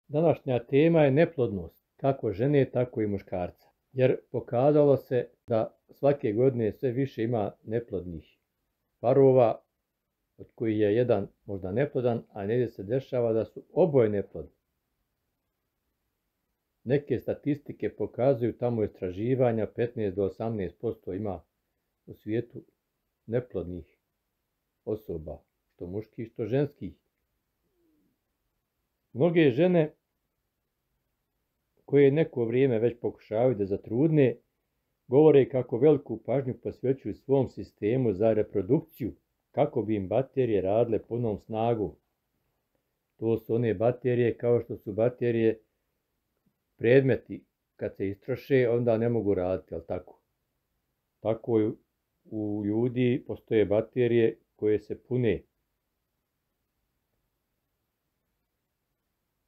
Današnja tema je neplodnost, kako žene, tako i muškarca. Jer pokazalo se da svake godine sve više ima neplodnih parova, od kojih je jedan možda neplodan, a negdje se dešava da su oboje neplodni. Neke statistike pokazuju tamo istraživanja 15 do 18% ima u svijetu neplodnih osoba, što muških, što ženskih. Mnoge žene koje neko vrijeme već pokušavaju da zatrudne, govore kako veliku pažnju posvećuju svom sistemu za reprodukciju, kako bi im baterije radile punom snagom. To su one baterije kao što su baterije predmeti, kad se istroše, onda ne mogu raditi, ali tako? Tako u ljudi postoje baterije koje se pune.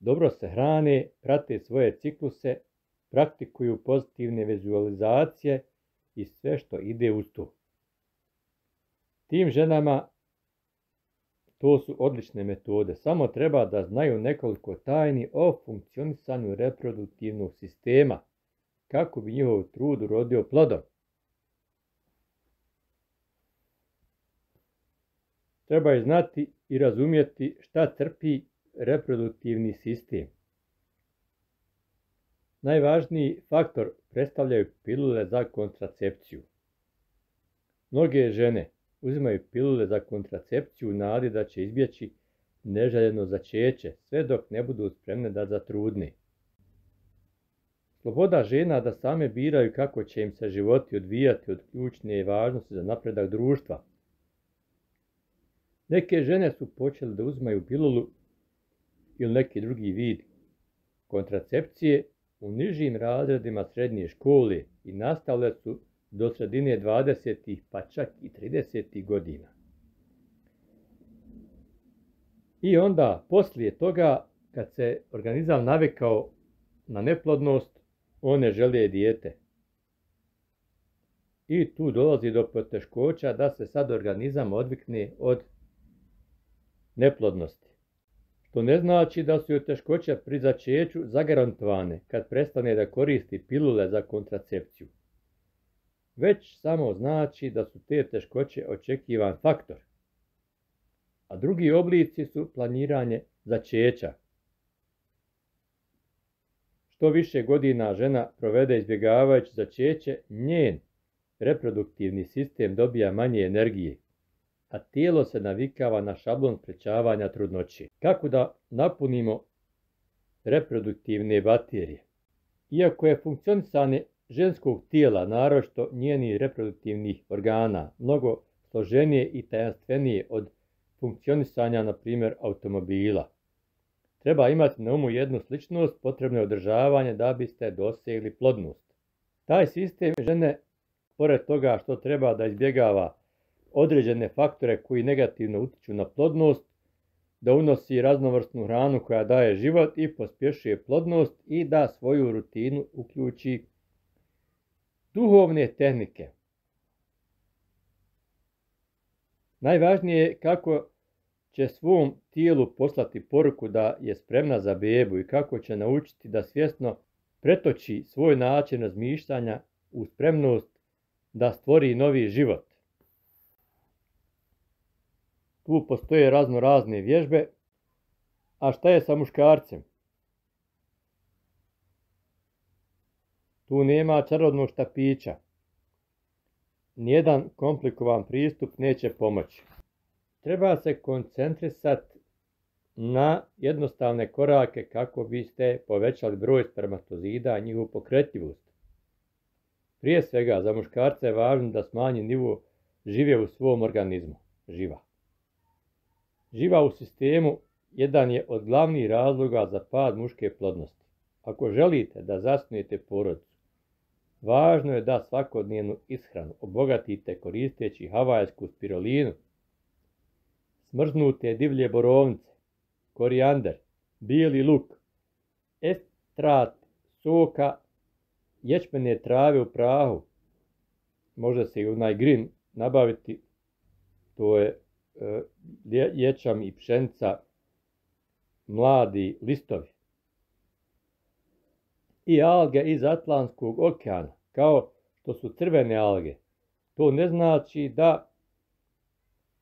Dobro se hrane, prate svoje cikluse, praktikuju pozitivne vizualizacije i sve što ide uz to. Tim ženama to su odlične metode, samo treba da znaju nekoliko tajni o funkcionisanju reproduktivnog sistema, kako bi njihov trud urodio plodom. Treba je znati i razumjeti šta trpi reproduktivni sistem. Najvažniji faktor predstavljaju pilule za kontracepciju. Mnoge žene uzimaju pilule za kontracepciju u nadi da će izbjeći neželjeno začeće, sve dok ne budu spremne da zatrudne. Sloboda žena da same biraju kako će im se životi odvijati od ključne važnosti za napredak društva. Neke žene su počele da uzimaju pilulu ili neki drugi vid kontracepcije u nižim razredima srednje škole i nastavile su do sredine 20. pa čak i 30. godina. I onda, poslije toga, kad se organizam navikao na neplodnost, one žele dijete. I tu dolazi do poteškoća da se sad organizam odvikne od neplodnosti. Što ne znači da su joj teškoće pri začeću zagarantovane kad prestane da koristi pilule za kontracepciju. Već samo znači da su te teškoće očekivan faktor. A drugi oblici su planiranje začeća. Što više godina žena provede izbjegavajući začeće, njen reproduktivni sistem dobija manje energije, a tijelo se navikava na šablon sprečavanja trudnoće. Kako da napunimo reproduktivne baterije? Iako je funkcionisanje ženskog tijela, naročito njenih reproduktivnih organa, mnogo složenije i tajanstvenije od funkcionisanja, na primjer, automobila. Treba imati na umu jednu sličnost, potrebno je održavanje da biste dosegli plodnost. Taj sistem žene, pored toga što treba da izbjegava određene faktore koji negativno utiču na plodnost, da unosi raznovrsnu hranu koja daje život i pospješuje plodnost i da svoju rutinu uključi duhovne tehnike. Najvažnije je kako će svom tijelu poslati poruku da je spremna za bebu i kako će naučiti da svjesno pretoči svoj način razmišljanja u spremnost da stvori novi život. Tu postoje razne vježbe, a šta je sa muškarcem? Tu nema čarobnog štapića. Nijedan komplikovan pristup neće pomoći. Treba se koncentrisati na jednostavne korake kako biste povećali broj spermatozida i njihovu pokretljivost. Prije svega, za muškarca je važno da smanji nivo žive u svom organizmu. Živa u sistemu jedan je od glavnih razloga za pad muške plodnosti. Ako želite da zasnujete porodicu, važno je da svakodnevnu ishranu obogatite koristeći havajsku spirulinu, smrznute divlje borovnice, korijander, bijeli luk, ekstrakt soka ječmene trave u prahu. Može se i onaj green nabaviti, to je ječam i pšenica, mladi listovi. i alge iz Atlantskog okeana, kao što su crvene alge. To ne znači da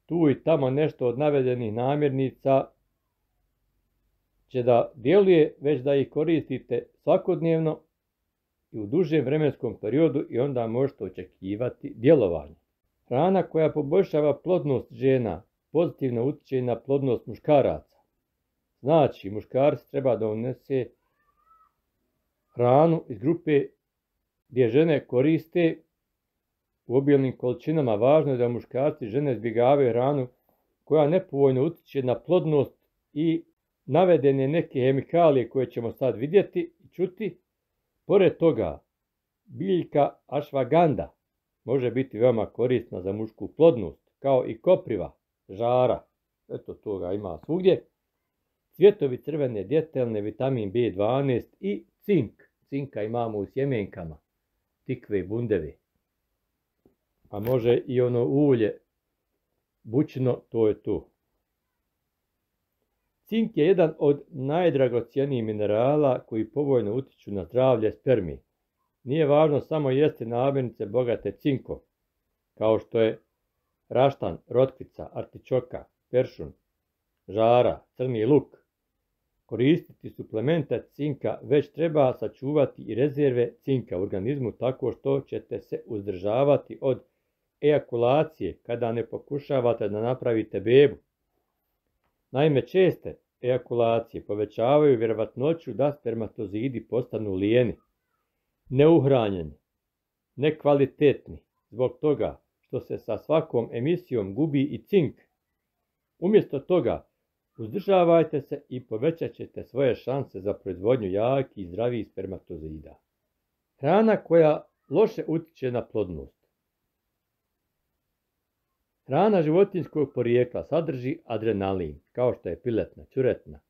tu i tamo nešto od navedenih namirnica će da djeluje, već da ih koristite svakodnevno i u dužem vremenskom periodu i onda možete očekivati djelovanje. Hrana koja poboljšava plodnost žena pozitivno utječe na plodnost muškaraca. Znači, muškarac treba da unese hranu iz grupe gdje žene koriste u obilnim količinama. Važno je da muškarci i žene izbjegavaju hranu koja nepovoljno utječe na plodnost i navedene neke hemikalije koje ćemo sad vidjeti i čuti. Pored toga, biljka ašvaganda može biti veoma korisna za mušku plodnost, kao i kopriva, žara, eto toga ima svugdje, cvjetovi crvene djetelne, vitamin B12 i cink. Cinka imamo u sjemenkama, tikve i bundeve. A može i ono ulje, bućino, to je to. Cink je jedan od najdragocjenijih minerala koji povoljno utječu na zdravlje spermi. Nije važno samo jesti namirnice bogate cinkom, kao što je raštan, rotkvica, artičoka, peršun, žara, crni luk. Koristiti suplemente cinka, već treba sačuvati i rezerve cinka u organizmu tako što ćete se uzdržavati od ejakulacije kada ne pokušavate da napravite bebu. Naime, česte ejakulacije povećavaju vjerovatnoću da spermatozidi postanu lijeni, neuhranjeni, nekvalitetni, zbog toga što se sa svakom emisijom gubi i cink. Umjesto toga, uzdržavajte se i povećat ćete svoje šanse za proizvodnju jakih i zdravih spermatozida. Hrana koja loše utječe na plodnost. Hrana životinjskog porijekla sadrži adrenalin, kao što je piletna, ćuretna,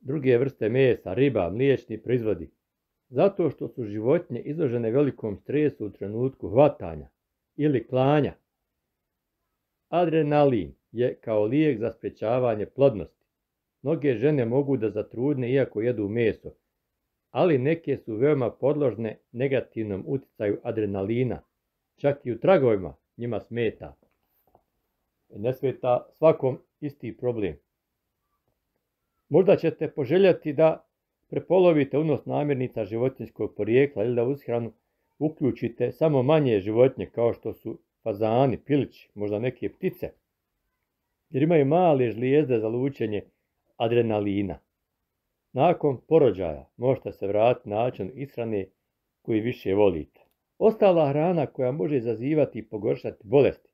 druge vrste mesa, riba, mliječni proizvodi, zato što su životinje izložene velikom stresu u trenutku hvatanja ili klanja. Adrenalin je kao lijek za sprječavanje plodnosti. Mnoge žene mogu da zatrudne iako jedu meso, ali neke su veoma podložne negativnom utjecaju adrenalina. Čak i u tragovima njima smeta. Ne smeta svakom isti problem. Možda ćete poželjeti da prepolovite unos namirnica životinjskog porijekla ili da u ishranu uključite samo manje životinje kao što su fazani, pilići, možda neke ptice, jer imaju male žlijezde za lučenje adrenalina. Nakon porođaja možete se vratiti način ishrane koji više volite. Ostala hrana koja može izazivati i pogoršati bolesti,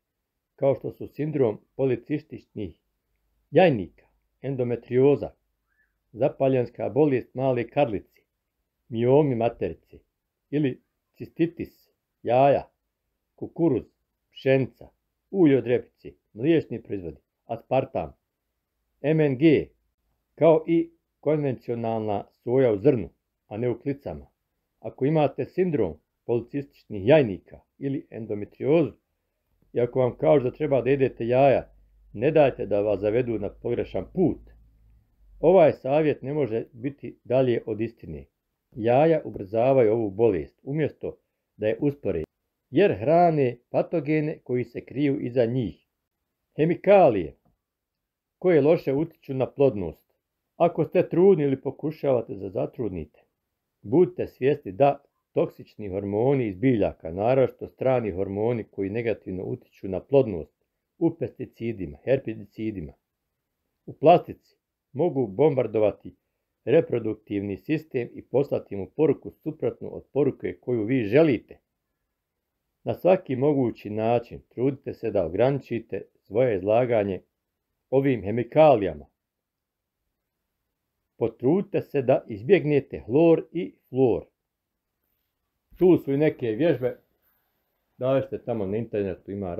kao što su sindrom policističnih jajnika, endometrioza, zapaljenska bolest male karlice, miomi materice ili cistitis jaja, kukuruz, pšenica, ulje od repice, mliječni proizvodi, aspartam, MNG, kao i konvencionalna soja u zrnu, a ne u klicama. Ako imate sindrom policističnih jajnika ili endometriozu, i ako vam kažu da treba da jedete jaja, ne dajte da vas zavedu na pogrešan put. Ovaj savjet ne može biti dalje od istine. Jaja ubrzavaju ovu bolest, umjesto da je uspore, jer hrane patogene koji se kriju iza njih. Hemikalije koje loše utječu na plodnost. Ako ste trudni ili pokušavate da zatrudnite, budite svjesni da toksični hormoni iz biljaka, naročito strani hormoni koji negativno utječu na plodnost, u pesticidima, herbicidima, u plastici, mogu bombardovati reproduktivni sistem i poslati mu poruku suprotnu od poruke koju vi želite. Na svaki mogući način trudite se da ograničite svoje izlaganje ovim hemikalijama. Potrudite se da izbjegnete hlor i flor. Tu su i neke vježbe, dašte tamo na internetu, ima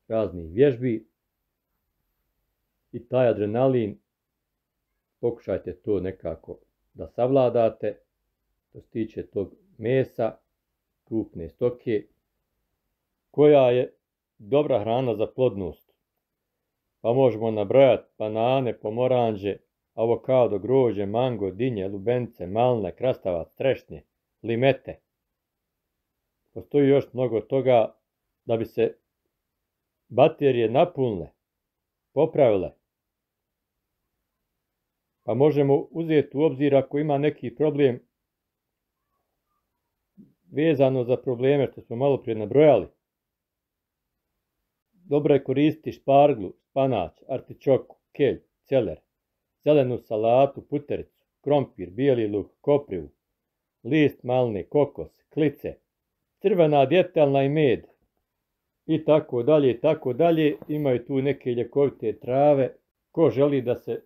raznih vježbi. I taj adrenalin, pokušajte to nekako da savladate, što se tiče tog mesa, krupne stoke, koja je dobra hrana za plodnost. Pa možemo nabrojati banane, pomoranđe, avokado, grožđe, mango, dinje, lubenice, malne, krastavac, trešnje, limete. Postoji još mnogo toga da bi se baterije napunile, popravile. Pa možemo uzeti u obzir ako ima neki problem vezano za probleme što smo malo prije nabrojali. Dobro je koristiti šparglu, spanać, artičoku, kelj, celer, zelenu salatu, putericu, krompir, bijeli luk, koprivu, list malne, kokos, klice, crvena djetelna i med i tako dalje i tako dalje. Imaju tu neke ljekovite trave. Ko želi da se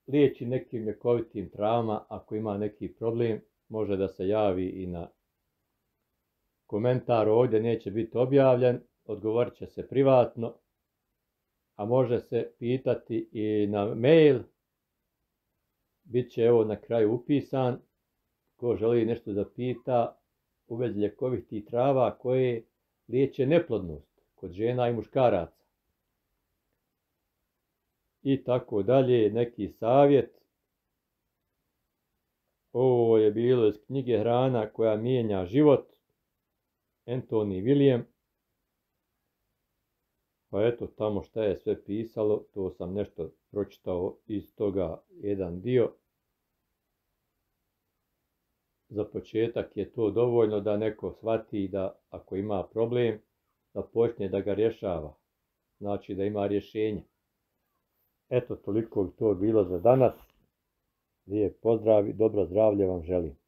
liječi nekim ljekovitim travama, ako ima neki problem, može da se javi i na komentar ovdje, neće biti objavljen, odgovorit će se privatno, a može se pitati i na mail, bit će evo na kraju upisan, ko želi nešto da pita u vezi ljekovitih trava koje liječe neplodnost kod žena i muškaraca. I tako dalje, neki savjet. Ovo je bilo iz knjige Hrana koja mijenja život, Anthony William. Pa eto, tamo šta je sve pisalo, to sam nešto pročitao iz toga jedan dio. Za početak je to dovoljno da neko shvati da ako ima problem, da počne da ga rješava. Znači da ima rješenje. Eto, toliko bi to bilo za danas. Lijep pozdrav i dobro zdravlje vam želim.